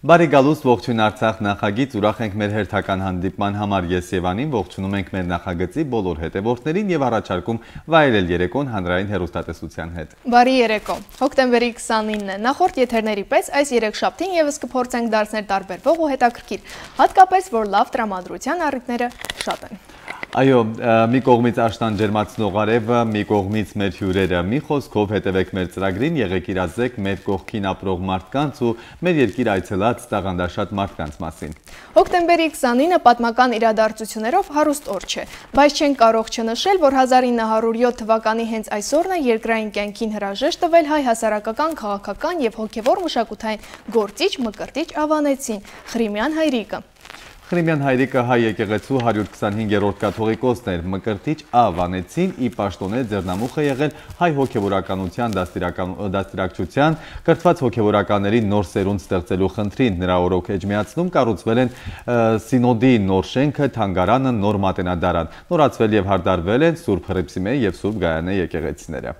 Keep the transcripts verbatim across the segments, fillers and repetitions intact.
Բարի գալուստ, ողջույն Արցախ նախագիծ, ուրախ ենք մեր հերթական հանդիպման համար ես եւ Անին, ողջունում ենք մեր նախագծի բոլոր հետևորդներին եւ առաջարկում վայելել երեկոն հանրային հեռուստատեսության հետ։ Բարի երեկո։ Հոկտեմբերի քսանինն է։ Նախորդ եթերների պես այս երեքշաբթին եւս կփորձենք դարձնել տարբերվող ու հետաքրքիր, հատկապես որ լավ տրամադրության առիթները շատ են։ Այո, մի կողմից աշտան ջերմացնող արևը, մի կողմից մեր հյուրերը, մի խոսքով հետևեք մեր ծրագրին, եղեք իրազեկ մեր կողքին ապրող մարդկանց ու մեր երկիր այցելած տաղանդաշատ մարդկանց մասին։ Հոկտեմբերի քսանինը պատմական իրադարձություններով հարուստ օր չէ, բայց չենք կարող չնշել, որ հազար ինը հարյուր յոթ թվականի հենց այսօրն է երկրային կյանքին հրաժեշտ տվել հայ հասարակական, քաղաքական եւ հոգեվոր մշակութային գործիչ Մկրտիչ Ավանեցին, Ղրիմյան Հայրիկը։ Ղրիմյան Հայրիկը հայ եկեղեցու հարյուր քսանհինգերորդ կաթողիկոսն էր, Մկրտիչ Ավանեցին ի պաշտոնե ձեռնամուխ է եղել հայ հոգևորականության դաստիարակչության, կրթված հոգևորականների նոր սերունդ ստեղծելու խնդրին, նրա օրոք էջմիածնում կառուցվել են Սինոդի նոր շենքը, թանգարանը, նոր մատենադարան, նորացվել եւ հարդարվել են Սուրբ Հռիփսիմե եւ Սուրբ Գայանե եկեղեցիները։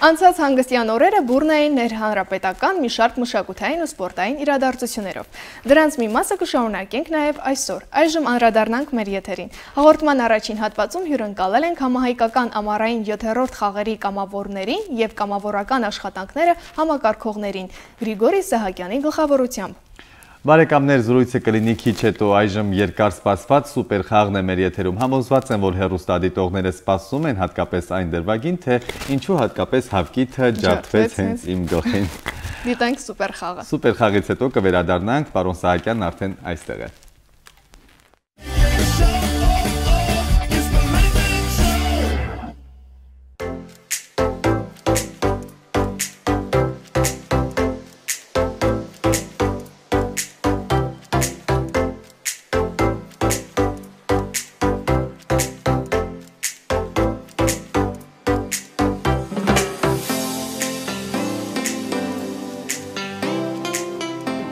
Անցած հանգստյան օրերը բուրն էին ներհանրապետական մի շարք մշակութային ու սպորտային իրադարձություններով։ Դրանց մի մասը կշարունակենք նաև այսօր։ Այժմ անդրադառնանք մեր եթերին։ Հաղորդման առաջին հատվածում հյուրընկալել ենք համահայկական ամառային յոթերորդ խաղերի կամավորներին եւ կամավորական աշխատանքները համակարգողներին Գրիգորի Սահակյանի գլխավորությամբ։ Բարեկամներ, զրույցը կլինի քիչ հետո, այժմ երկար սպասված սուպեր խաղն է մեր եթերում։ Համոզված եմ, որ հեռուստադիտողները սպասում են հատկապես այն դրվագին, թե ինչու հատկապես Հավկիթը ջարդվեց հենց իմ գլխին։ Դիտենք սուպեր խաղը։ Սուպեր խաղից հետո կվերադառնանք, պարոն Սահակյանն արդեն այստեղ է։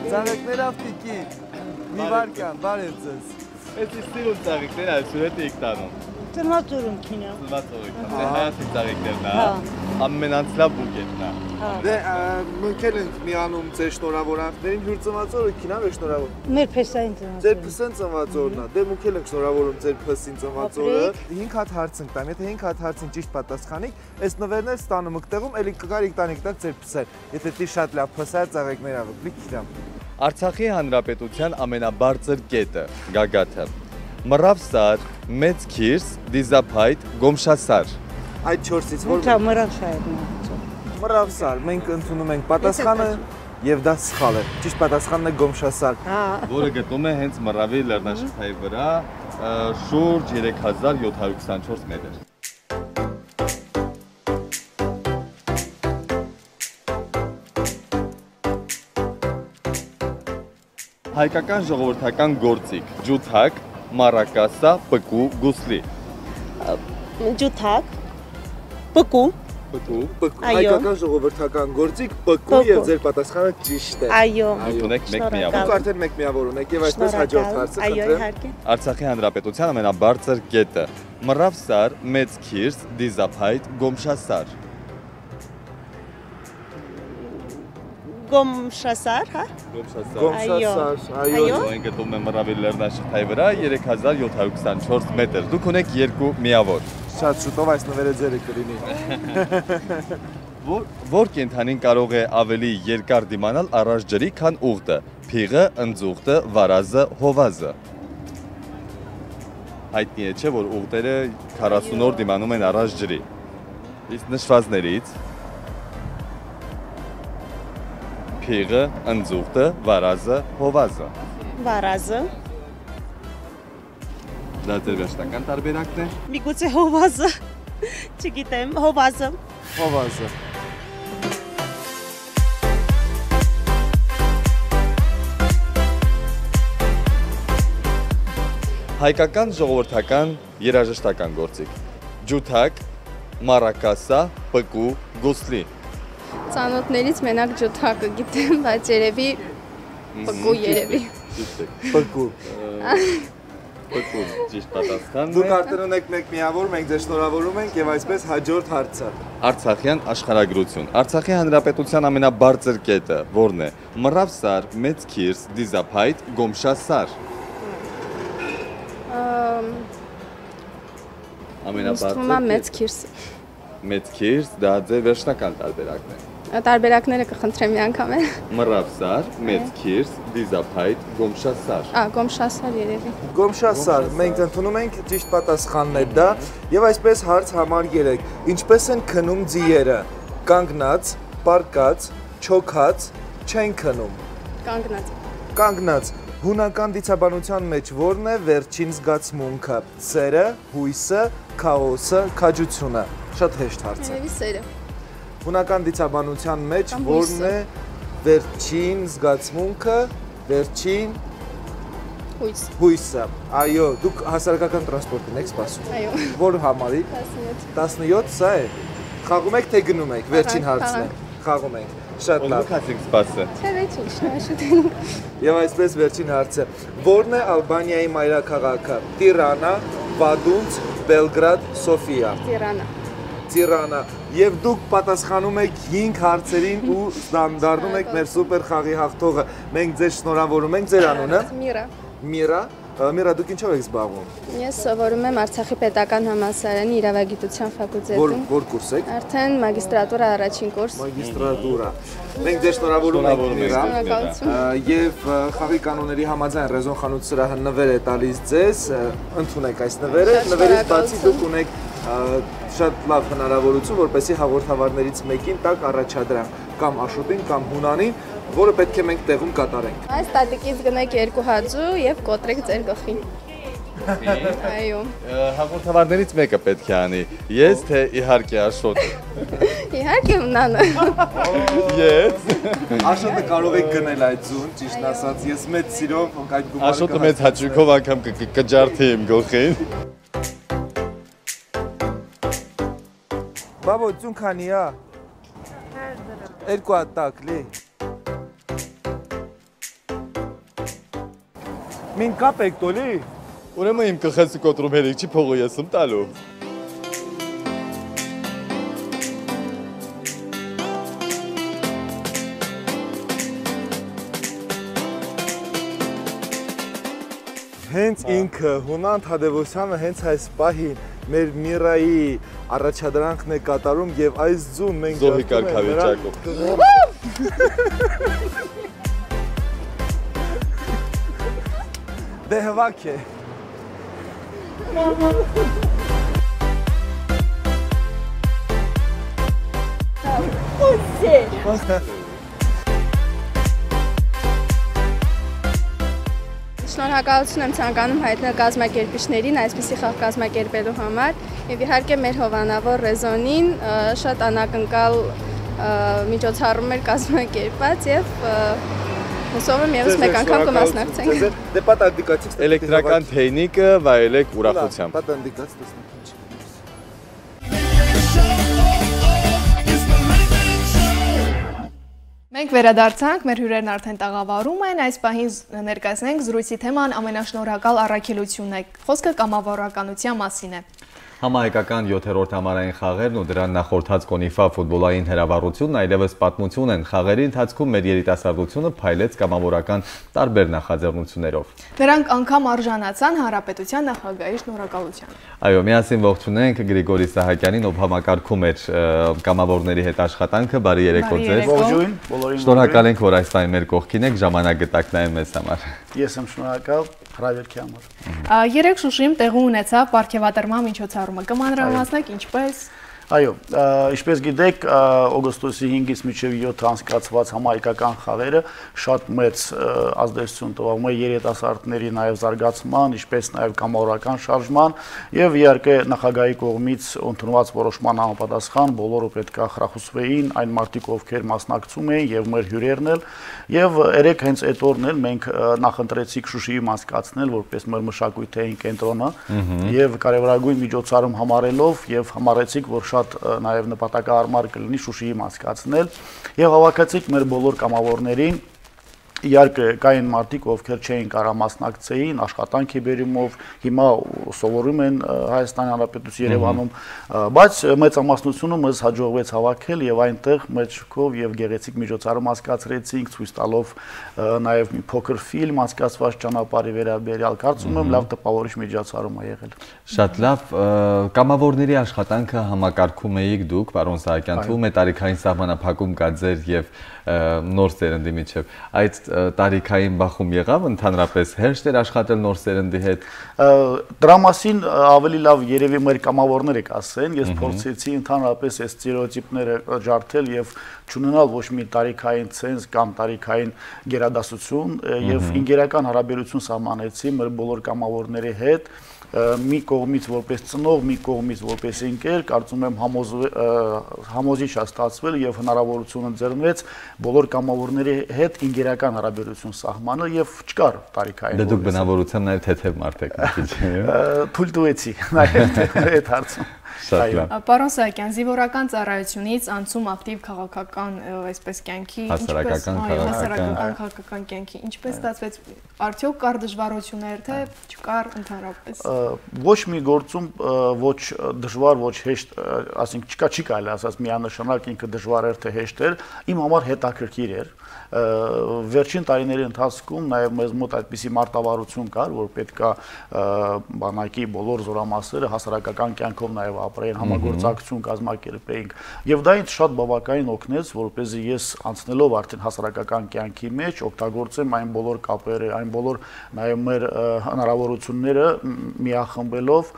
Ծաղիկներ ավտիկից, մի վարկյան, բարև ձեզ։ Ես իստիրուն ծաղիկներ այսուր հետ էիք տանում։ Ծնված օրունքին է։ Ծնված օրունքին, դե հայացի ծաղիկներն է, ամենանցլավ բուկետն է։ Դե մնքել ենք միանում ձեր շնորհավորանքներին, հյուր ծնված օրունքին է, մեր շնորհավոր։ Մեր փեսային ծնված։ Ձեր փսեն ծնված օրն է, դե մնքել ենք շնորհավորում ձեր փսին ծնված օրը։ հինգ հատ հարց ենք տամ, եթե հինգ հատ հարցին ճիշտ պատասխանիք, այս նվերներ ստանում եք տեղում, էլի կգարիք տանիք տակ ձեր փսեր։ Եթե դի շատ լավ փսա ծաղիկներ աղ, լիք իրամ։ Արցախի հանրապետության ամենաբարձր կետը, գագաթը, Մռավսար, Մեծ Քիրս, Դիզափայտ, Գոմշասար։ Այդ չորսից որ Դա Մռավսարն է։ Մռավսար, մենք ընդունում ենք պատասխանը եւ դա սխալ է։ Ճիշտ պատասխանն է Գոմշասար։ Որը գտնվում է հենց Մռավի լեռնաշղթայի վրա, շուրջ երեք հազար յոթ հարյուր քսանչորս մետր։ Հայկական ժողովրդական գործիք, ջութակ, մարակասա, պկու, գուսլի։ Ջութակ, պկու, Պկու, հայկական ժողովրդական գործիք, պկու եւ ձեր պատասխանը ճիշտ է։ Այո։ Ունեք մեկ միավոր։ Դուք արդեն մեկ միավոր ունեք եւ այսպես հաջորդ հարցը Այո, խնդրեմ։ իհարկե։ Արցախի հանրապետության ամենաբարձր կետը, Մռավսար, Մեծ Քիրս, Դիզափայտ, Գոմշասար։ Գոմշասար, հա։ Գոմշասար։ Գոմշասար, այո։ Այն գտնվում է Մռավի լեռնաշղթայի վրա, երեք հազար յոթ հարյուր քսանչորս մետր։ Դուք ունեք երկու միավոր։ Շատ շուտով այս նվերը ձերը կլինի։ Որ կենդանին կարող է ավելի երկար դիմանալ առաջ ջրի, քան ուղտը, փիղը, ընձուղտը, վարազը, հովազը։ Հայտնի է չէ, որ ուղտերը քառասուն օր դիմանում են առաջ ջրի։ Իսկ նշվածներից փիղը, ընձուղտը, վարազը, հովազը։ Վարազը։ Դա ձեր վերջնական տարբերակն է։ Միգուցե հովազը։ Չգիտեմ, հովազը։ Հովազը։ Հայկական ժողովրդական երաժշտական գործիք, ջութակ, մարակասա, պկու, գուսլի։ Ծանոթներից մենակ ջութակը գիտեմ, բայց երևի պկու երևի։ Պկու։ Բկում, ճիշտ պատասխանն է։ Դուք արդեն ունեք մեկ միավոր, մենք ձեզ շնորհավորում ենք եւ այսպես հաջորդ հարցը։ Արցախյան աշխարհագրություն։ Արցախի հանրապետության ամենաբարձր կետը որն է։ Մռավսար, Մեծ Քիրս, Դիզափայտ, Գոմշասար։ Ամենաբարձր Մեծ Քիրս։ Մեծ Քիրս, դա ձեր վերջնական տարբերակն է։ Տարբերակները կխնդրեմ մի անգամ է։ Մռավսար, Մեծ Քիրս, Դիզափայտ, Գոմշասար։ Ա, Գոմշասար երևի։ Գոմշասար, մենք ընդունում ենք ճիշտ պատասխանն է դա եւ այսպես հարց համար երեք։ Ինչպես են քնում ձիերը։ Կանգնած, պարկած, չոքած, չեն քնում։ Կանգնած։ Կանգնած։ Հունական դիցաբանության մեջ որն է վերջին զգացմունքը։ Սերը, հույսը, քաոսը, քաջությունը։ Շատ հեշտ հարց է։ Երևի սերը։ Հունական դիցաբանության մեջ որն է վերջին զգացմունքը, վերջին հույս։ Հույսը։ Այո, դուք հասարակական տրանսպորտին եք սպասում։ Այո։ Որ համարի։ տասնյոթ։ տասնյոթ, սա է։ Խաղում եք թե գնում եք, վերջին հարցն է։ Խաղում ենք։ Շատ լավ։ Ո՞նք ասենք սպասը։ Չէ, չի, շնորհաշուտ։ Եվ այսպես վերջին հարցը։ Որն է Ալբանիայի մայրաքաղաքը։ Տիրանա, Վադունց, Բելգրադ, Սոֆիա։ Տիրանա։ Տիրանա։ Եվ դուք պատասխանում եք հինգ հարցերին ու դառնում եք մեր սուպեր խաղի հաղթողը։ Մենք ձեզ շնորհավորում ենք, ձեր անունը։ Միրա։ Միրա, Միրա, դուք ինչով եք զբաղվում։ Ես սովորում եմ Արցախի պետական համալսարանի իրավագիտության Որ ֆակուլտետում։ որ կուրս եք։ Արդեն մագիստրատուրա առաջին կուրս։ Մագիստրատուրա։ Մենք ձեզ շնորհավորում ենք, Միրա։ Շնորհակալություն։ Եվ խաղի կանոնների համաձայն Ռեզոն խանութսրահը նվեր է տալիս ձեզ, ընդունեք այս նվերը, նվերից բացի դուք ունեք շատ լավ հնարավորություն, որպեսզի հաղորդավարներից մեկին տակ առաջադրանք կամ Աշոտին կամ Հունանին, որը պետք է մենք տեղում կատարենք։ Այս տատիկից գնեք երկու հաձու եւ կոտրեք ձեր գլխին։ Այո։ Հաղորդավարներից մեկը պետք է անի։ Ես թե իհարկե Աշոտը։ Իհարկե Հունանը։ Ես։ Աշոտը կարող եք գնել այդ ձուն, ճիշտ ասած, ես մեծ սիրով այդ գումարը։ Աշոտը մեծ հաճույքով անգամ կջարդի իմ գլխին։ Բաբո, ձուն քանի է։ Երկու հատ տակ լի։ Մին կապ եք տոլի։ Ուրեմն իմ գլխեսը կոտրում հերիք չի փողը ես եմ տալու։ Հենց ինքը Հունան Թադևոսյանը հենց այս պահին մեր Միրայի առաջադրանքն է կատարում եւ այս ձուն մենք Զոհի կարգավիճակով։ Դե հվակ է։ Շնորհակալություն եմ ցանկանում հայտնել կազմակերպիչներին այսպիսի խաղ կազմակերպելու համար եւ իհարկե մեր հովանավոր Ռեզոնին շատ անակնկալ միջոցառումներ կազմակերպած եւ հուսով եմ եւս մեկ անգամ կմասնակցենք։ Դե պատանդիկացիք Էլեկտրական թեյնիկը վայելեք ուրախությամբ։ Պատանդիկաց տեսնենք։ Մենք վերադարձանք, մեր հյուրերն արդեն տաղավարում են, այս պահին ներկայացնենք զրույցի թեման ամենաշնորհակալ առաքելությունն է, խոսքը կամավորականության մասին է։ Համահայկական յոթերորդ համարային խաղերն ու դրան նախորդած Կոնիֆա ֆուտբոլային հրավառությունն այլևս պատմություն են։ Խաղերի ընթացքում մեր երիտասարդությունը փայլեց կամավորական տարբեր նախաձեռնություններով։ Նրանք անգամ արժանացան հանրապետության նախագահի շնորհակալության։ Այո, միասին ողջունենք Գրիգորի Սահակյանին, ով համակարգում էր կամավորների հետ աշխատանքը։ Բարի երեկո ձեզ։ Ողջույն, բոլորին։ Շնորհակալ ենք, որ այս պահին մեր կողքին եք, ժամանակ գտաք նաև մեզ համար։ Ես եմ շնորհակալ հրավերքի համար։ Երեք Շուշիում տեղի ունեցավ պարգևատրման միջոցառումը։ Կմանրամասնեք ինչպես։ Այո, ինչպես գիտեք, օգոստոսի հինգից մինչև յոթ անցկացված համահայկական խաղերը շատ մեծ ազդեցություն տվավ մեր երիտասարդների նաև զարգացման, ինչպես նաև կամավորական շարժման եւ իհարկե նախագահի կողմից ընդունված որոշման համապատասխան բոլորը պետք է խրախուսվեին այն մարդիկ, ովքեր մասնակցում էին եւ մեր հյուրերն էլ եւ երեք հենց այդ օրն էլ մենք նախընտրեցիք Շուշիի մասնակցնել որպես մեր մշակութային կենտրոնը եւ կարևորագույն միջոցառում համարելով եւ համարեցիք, որ շատ նաև նպատակահարմար կլինի Շուշիի մասնակցնել եւ հավաքեցիք մեր բոլոր կամավորներին Իհարկե կային մարդիկ, ովքեր չէին կարող մասնակցեին, աշխատանք է բերումով, հիմա սովորում են Հայաստանի Հանրապետության Երևանում, բայց մեծամասնությունը մեզ հաջողվեց հավաքել եւ այնտեղ մեր շքով եւ գեղեցիկ միջոցառում անցկացրեցինք, ցույց տալով նաեւ մի փոքր ֆիլմ անցկացված ճանապարհի վերաբերյալ, կարծում եմ լավ տպավորիչ միջոցառում է եղել։ Շատ լավ, կամավորների աշխատանքը համակարգում էիք դուք, պարոն Սահակյան, թվում է տարիքային սահմանափակում կա ձեր եւ նոր սերնդի միջև, այդ տարիքային բախում եղավ, ընդհանրապես հեշտ էր աշխատել նոր սերնդի հետ։ Դրա մասին ավելի լավ երևի մեր կամավորները կասեն, ես փորձեցի ընդհանրապես այս ստերեոտիպները ջարդել եւ չունենալ ոչ մի տարիքային ցենզ կամ տարիքային գերադասություն եւ ինգերական հարաբերություն սահմանեցի մեր բոլոր կամավորների հետ։ Մի կողմից որպես ծնող, մի կողմից որպես ընկեր, կարծում եմ համոզիչ է ստացվել եւ հնարավորություն ընձեռնվեց բոլոր կամավորների հետ ինգերական հարաբերություն սահմանել եւ չկար տարիքային։ Դե դուք բնավորությամբ նաեւ թեթև մարդ եք, քիչ է։ Թույլ տվեցի նաեւ այդ հարցում։ Պարոն Սահակյան, զինվորական ծառայությունից անցում ակտիվ քաղաքական այսպես կյանքի, հասարակական քաղաքական կյանքի, ինչպես ստացվեց, արդյոք կար դժվարություններ, թե չկար ընդհանրապես։ Ոչ մի գործում ոչ դժվար, ոչ հեշտ, ասենք չկա, չի կարելի ասած միանշանակ ինքը դժվար էր թե հեշտ էր, իմ համար հետաքրքիր էր։ Վերջին տարիների ընթացքում նաև մեզ մոտ այդպիսի մարտավարություն կար, որ պետք է բանակի բոլոր զորամասերը հասարակական կյանքով նաև ապրեին, համագործակցություն կազմակերպեին, եւ դա ինձ շատ բավականին օգնեց, որպեսզի ես անցնելով արդեն հասարակական կյանքի մեջ օգտագործեմ այն բոլոր կապերը, այն բոլոր նաև մեր հնարավորությունները միախմբելով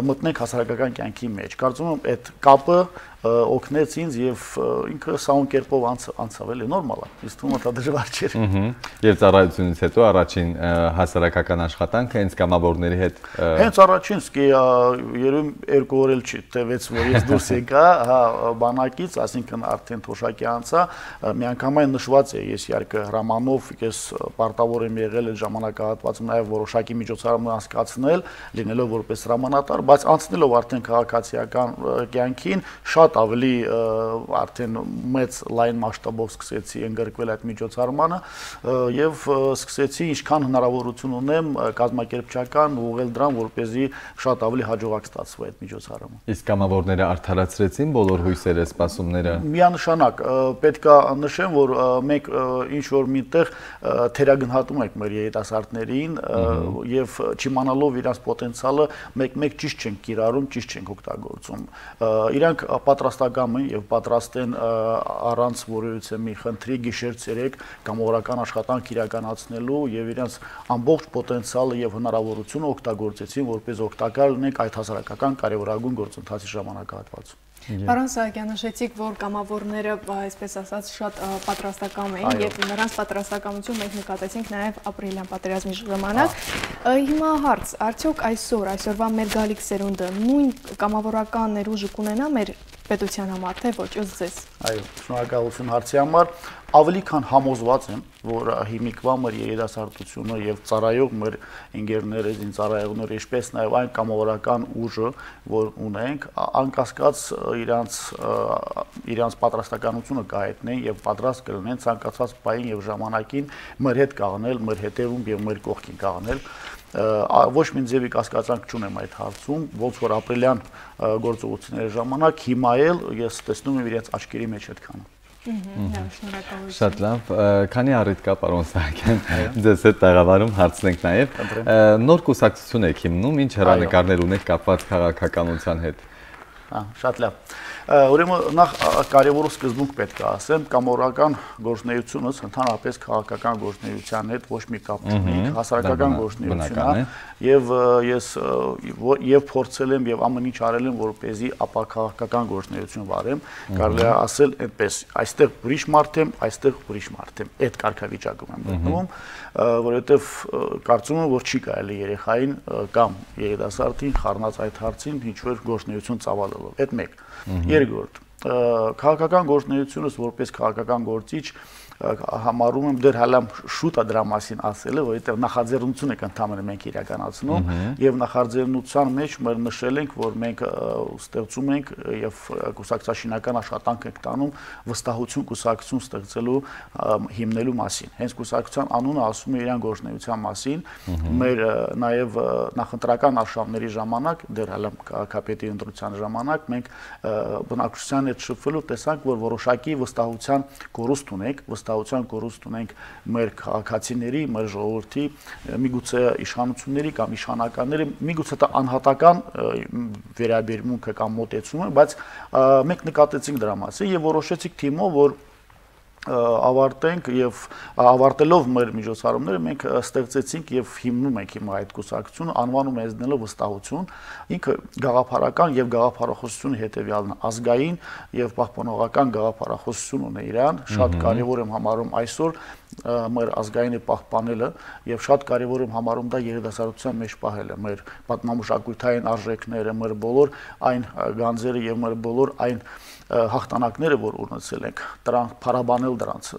մտնենք հասարակական կյանքի մեջ։ Կարծում եմ այդ կապը օգնեց ինձ եւ ինքը սահուն կերպով անցավ, էլի նորմալ է, իսկ թվում է դա դժվար չէր։ Եվ ծառայությունից հետո առաջին հասարակական աշխատանքը հենց կամավորների հետ։ Հենց առաջին, սկի երևի երկու օր էլ չի տևեց, որ ես դուրս եկա բանակից, ասինքն արդեն թոշակի անցա, միանգամայն նշված է, ես իհարկե հրամանով ես պարտավոր եմ եղել այդ ժամանակահատվածում նաեւ որոշակի միջոցառում անցկացնել, լինելով որպես հրամանատար, բայց անցնելով արդեն քաղաքացիական կյանքին շատ ավելի արդեն մեծ լայն մասշտաբով սկսեցի ընդգրկվել այդ միջոցառմանը եւ սկսեցի ինչքան հնարավորություն ունեմ կազմակերպչական ուղղել դրան, որպեսզի շատ ավելի հաջողակ ստացվի այդ միջոցառումը։ Իսկ կամավորները արդարացրեցին բոլոր հույսերը, սպասումները։ Միանշանակ պետք է նշեմ, որ մենք ինչ որ միտեղ թերագնահատում ենք մեր երիտասարդներին եւ չիմանալով իրենց պոտենցիալը մեկ-մեկ ճիշտ չենք կիրառում, ճիշտ չենք օգտագործում։ Իրանք պատրաստական են եւ պատրաստ են առանց որևիցե մի խնդրի գիշեր-ցերեկ կամավորական աշխատանք իրականացնելու եւ իրենց ամբողջ պոտենցիալը եւ հնարավորությունը օգտագործեցին, որպես օգտակար լինենք այդ հասարակական կարևորագույն գործընթացի ժամանակահատվածում։ Պարոն Սահակյան, նշեցիք, որ կամավորները, այսպես ասած, շատ պատրաստական էին եւ նրանց պատրաստականություն մենք նկատեցինք նաեւ ապրիլյան պատերազմի ժամանակ։ Հիմա հարց, արդյոք այսօր, այսօրվա մեր գալիք սերունդը նույն կամավորական ներուժը կունենա մեր պետության համար, թե ոչ, ըստ ձեզ։ Այո, շնորհակալություն հարցի համար։ Ավելի քան համոզված եմ, որ հիմիկվա մեր երիտասարդությունը եւ ծառայող մեր ընկերները, զինծառայողները, ինչպես նաեւ այն կամավորական ուժը, որ ունենք, անկասկած իրանց իրանց պատրաստականությունը կհայտնեն եւ պատրաստ կլինեն ցանկացած պահին եւ ժամանակին մեր հետ կաղնել, մեր հետևում եւ մեր կողքին կաղնել։ Ոչ մի ձևի կասկածանք չունեմ այդ հարցում, ոնց որ ապրիլյան գործողությունների ժամանակ հիմա էլ ես տեսնում եմ իրենց աչքերի մեջ այդքանը։ Շատ լավ, քանի առիթ կա, պարոն Սահակյան, ձեզ հետ տաղավարում հարցնենք նաև, նոր կուսակցություն եք հիմնում, ինչ հեռանկարներ ունեք կապված քաղաքականության հետ։ Շատ լավ։ Ուրեմն նախ կարևորը սկզբունք պետք է ասեմ, կամավորական գործունեությունը ընդհանրապես քաղաքական գործունեության հետ ոչ մի կապ չունի, հասարակական գործունեություն է, եւ ես եւ փորձել եմ եւ ամեն ինչ արել եմ, որպեսզի ապաքաղաքական գործունեություն վարեմ, կարելի է ասել այդպես, այստեղ ուրիշ մարդ եմ, այստեղ ուրիշ մարդ եմ, այդ կարգավիճակում եմ գտնվում, որովհետեւ կարծում եմ, որ չի կարելի երեխային կամ երիտասարդին խառնած այդ հարցին ինչ որ գործունեություն ծավալելով, այդ մեկ։ Երկրորդ, քաղաքական գործունեությունս որպես քաղաքական գործիչ համարում եմ դեռ հələ շուտ է դրա մասին ասելը, որովհետև նախաձեռնություն եք ընդհանրապես մենք իրականացնում եւ նախաձեռնության մեջ մեր նշել ենք, որ մենք ստեղծում ենք եւ կուսակցաշինական աշխատանք ենք տանում վստահություն կուսակցություն ստեղծելու հիմնելու մասին։ Հենց կուսակցության անունը ասում է իրան գործունեության մասին, մեր նաեւ նախընտրական արշավների ժամանակ, դեռ հələ քաղաքապետի ընտրության ժամանակ մենք բնակչության հետ շփվելով տեսանք, որ որոշակի վստահության կորուստ ունենք, վստահության կորուստ ունենք մեր քաղաքացիների, մեր ժողովրդի, միգուցե իշխանությունների կամ իշխանականների, միգուցե դա անհատական վերաբերմունքը կամ մոտեցումը, բայց մենք նկատեցինք դրա մասին եւ որոշեցինք թիմով, որ ավարտենք եւ ավարտելով մեր միջոցառումները մենք ստեղծեցինք եւ հիմնում ենք հիմա այդ կուսակցությունը անվանում ենք դնելով վստահություն ինքը գաղափարական եւ գաղափարախոսությունը հետեւյալն է ազգային եւ պահպանողական գաղափարախոսություն ունի իրան շատ կարեւոր եմ համարում այսօր մեր ազգայինը պահպանելը եւ շատ կարեւոր եմ համարում դա երիտասարդության մեջ պահելը մեր պատմամշակութային արժեքները մեր բոլոր այն գանձերը եւ մեր բոլոր այն հաղթանակները որ ունեցել ենք դրանք փառաբանել դրանց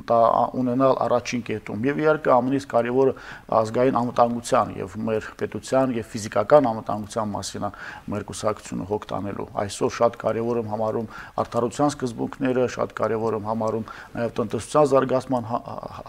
դա ունենալ առաջին կետում եւ իհարկե ամենից կարեւորը ազգային անվտանգության եւ մեր պետության եւ ֆիզիկական անվտանգության մասին է մեր կուսակցությունը հոգ տանելու այսօր շատ կարեւոր եմ համարում արդարության սկզբունքները շատ կարեւոր եմ համարում նաեւ տնտեսության զարգացման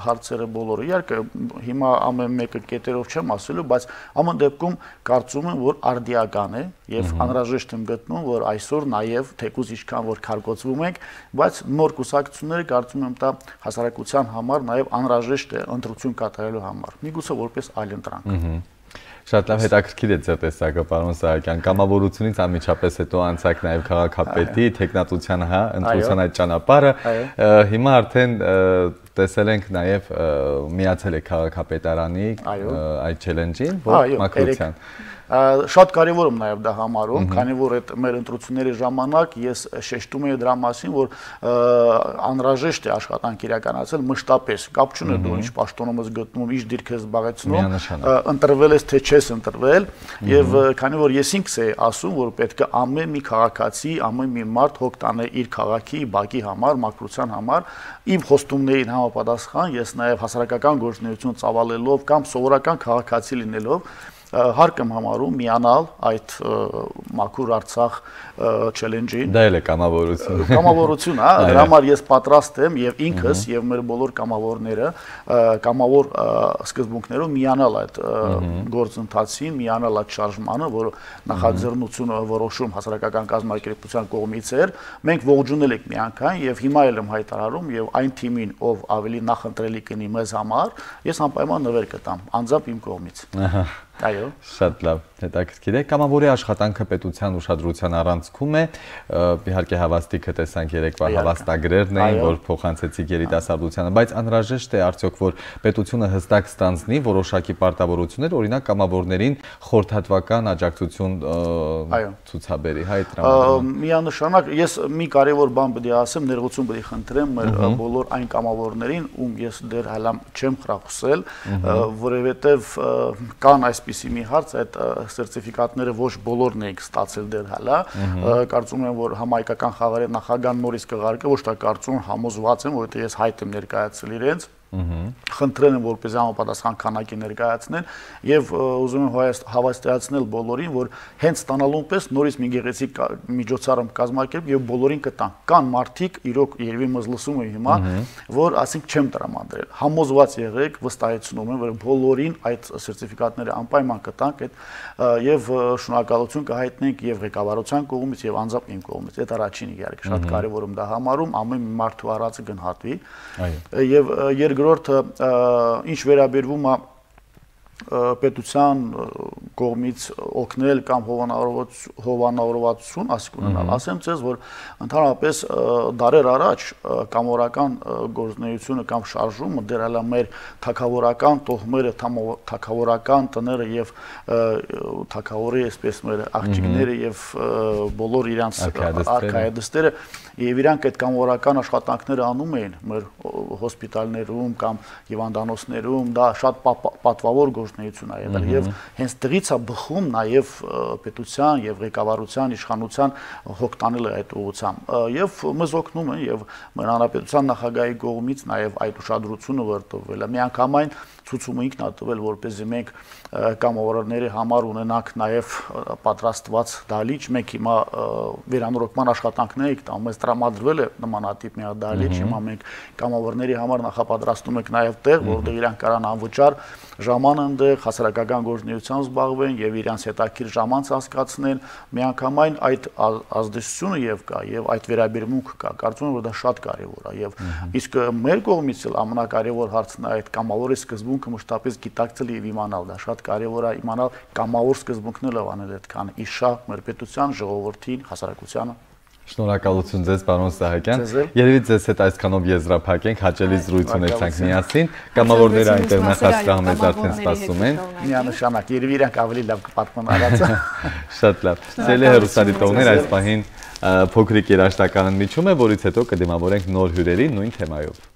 հարցերը բոլորը իհարկե հիմա ամեն մեկը կետերով չեմ ասելու բայց ամեն դեպքում կարծում եմ որ արդիական է եւ անհրաժեշտ եմ գտնում որ այսօր նաեւ թեկուզ ինչքան որ քարգոծվում ենք բայց նոր կուսակցությունները կարծում եմ դա հասարակության համար նաեւ անհրաժեշտ է ընտրություն կատարելու համար միգուցե որպես այլընտրանք Շատ լավ հետաքրքիր է ձեր տեսակը, պարոն Սահակյան, կամավորությունից անմիջապես հետո անցակ նաև քաղաքապետի, տեխնատության, հա, ընտրության այդ ճանապարհը, հիմա արդեն տեսել ենք նաև միացել է քաղաքապետարանի այդ չելենջին, որ մակրության Շատ կարևոր եմ նաև դա համարում, քանի որ այդ մեր ընտրությունների ժամանակ ես շեշտում եի դրա մասին, որ անհրաժեշտ է աշխատանք իրականացնել մշտապես, կապ չունի դու ինչ պաշտոնում ես գտնում, ինչ դիրք ես զբաղեցնում, ընտրվել ես թե չես ընտրվել, եւ քանի որ ես ինքս էի ասում, որ պետք է ամեն մի քաղաքացի, ամեն մի մարդ հոգ տանե իր քաղաքի, բակի համար, մակրության համար, իմ խոստումներին համապատասխան ես նաև հասարակական գործունեություն ծավալելով կամ սովորական քաղաքացի լինելով հարկ եմ համարում միանալ այդ մաքուր Արցախ չելենջին։ Դա էլ է կամավորություն։ Կամավորություն, հա, դրա համար ես պատրաստ եմ եւ ինքս եւ մեր բոլոր կամավորները կամավոր սկզբունքներով միանալ այդ գործընթացին, միանալ այդ շարժմանը, որը նախաձեռնությունը որոշում հասարակական կազմակերպության կողմից էր։ Մենք ողջունել ենք միանգամայն եւ հիմա էլ եմ հայտարարում եւ այն թիմին, ով ավելի նախընտրելի կնի մեզ համար, ես անպայման նվեր կտամ, անձամբ իմ կողմից։ Ահա Այո, շատ լավ, հետաքրքիր է։ Կամավորի աշխատանքը պետության ուշադրության առանցքում է, իհարկե հավաստիքը տեսանք երեկվա հավաստագրերն էին, որ փոխանցեցիք երիտասարդությանը, բայց անհրաժեշտ է արդյոք որ պետությունը հստակ ստանձնի որոշակի պարտավորություններ, օրինակ կամավորներին խորհրդատվական աջակցություն ցուցաբերի, հա, այդ տրամադրում։ Միանշանակ ես մի կարևոր բան պետք է ասեմ, ներողություն պետք է խնդրեմ մեր բոլոր այն կամավորներին, ում ես դեռ հələ չեմ խրախուսել, որովհետև կան այս Պիսի մի հարց այդ սերտիֆիկատները ոչ բոլորն ենք ստացել դեռ հələ կարծում եմ որ համայնքական խաղերի նախագահան նորից կղարկե ոչ թե կարծում համոզված եմ որովհետեւ ես հայտ եմ ներկայացրել իրենց խնդրել եմ որպես համապատասխան քանակի ներկայացնել եւ ուզում եմ հավաստիացնել բոլորին որ հենց ստանալուն պես նորից մի գեղեցիկ միջոցառում կազմակերպ եւ բոլորին կտան կան մարդիկ իրոք երևի մեզ լսում են հիմա որ ասենք չեմ տրամադրել համոզված եղեք վստահեցնում եմ որ բոլորին այդ սերտիֆիկատները անպայման կտանք այդ եւ շնորհակալություն կհայտնենք եւ ղեկավարության կողմից եւ անձամբ իմ կողմից այդ առաջին իհարկե շատ կարեւոր եմ դա համարում ամեն մի մարդու առածը գնահատվի եւ երկրորդը ինչ վերաբերվում է պետության կողմից օգնել կամ հովանավորվածություն ասիկ ունենալ ասեմ ձեզ որ ընդհանրապես դարեր առաջ կամավորական գործունեությունը կամ շարժումը դեռ հələ մեր թագավորական տոհմերը թագավորական տները եւ թագավորի այսպես մեր աղջիկները եւ բոլոր իրանց արքայադստերը եւ իրանք այդ կամավորական աշխատանքները անում էին մեր հոսպիտալներում կամ հիվանդանոցներում դա շատ պատվավոր գործունեություն ա եղել եւ հենց դրից է բխում նաեւ պետության եւ ղեկավարության իշխանության հոգ տանելը այդ ուղղությամբ եւ մեզ օգնում են եւ մեր հանրապետության նախագահի կողմից նաեւ այդ ուշադրությունը վրդովվել է միանգամայն ցուցումը ինքն է տվել որպեսզի մենք կամավորների համար ունենանք նաև պատրաստված դահլիճ, մենք հիմա վերանորոգման աշխատանքներ ենք տանում, մեզ տրամադրվել է նմանատիպ մի դահլիճ, հիմա մենք կամավորների համար նախապատրաստում ենք նաև տեղ, որտեղ իրանք կարան անվճար ժամանակ ընդեղ հասարակական գործունեությամբ զբաղվեն եւ իրանց հետաքրքիր ժամանց հասկացնեն, միանգամայն այդ ազդեցությունը եւ կա եւ այդ վերաբերմունքը կա, կարծում եմ որ դա շատ կարեւոր է եւ իսկ մեր կողմից էլ ամենակարևոր հարցն է այդ կամավորի սկզբունքը մշտապես գիտակցել եւ իմանալ, դա շատ կարևոր է իմանալ կամավոր սկզբունքները անել այդքան իշա մեր պետության, ժողովրդին, հասարակությանը։ Շնորհակալություն ձեզ, պարոն Սահակյան։ Երևի ձեզ հետ այսքանով եզրափակենք, հաճելի զրույց ունեցանք միասին։ Կամավորները այնտեղ նախասրահ մեզ արդեն սպասում են։ Միանշանակ, երևի իրանք ավելի լավ կպատմեն արածը։ Շատ լավ։ Սիրելի հեռուստադիտողներ, այս պահին փոքրիկ երաժշտական ընդմիջում է, որից հետո կդիմավորենք նոր հյուրերի նույն թեմայով։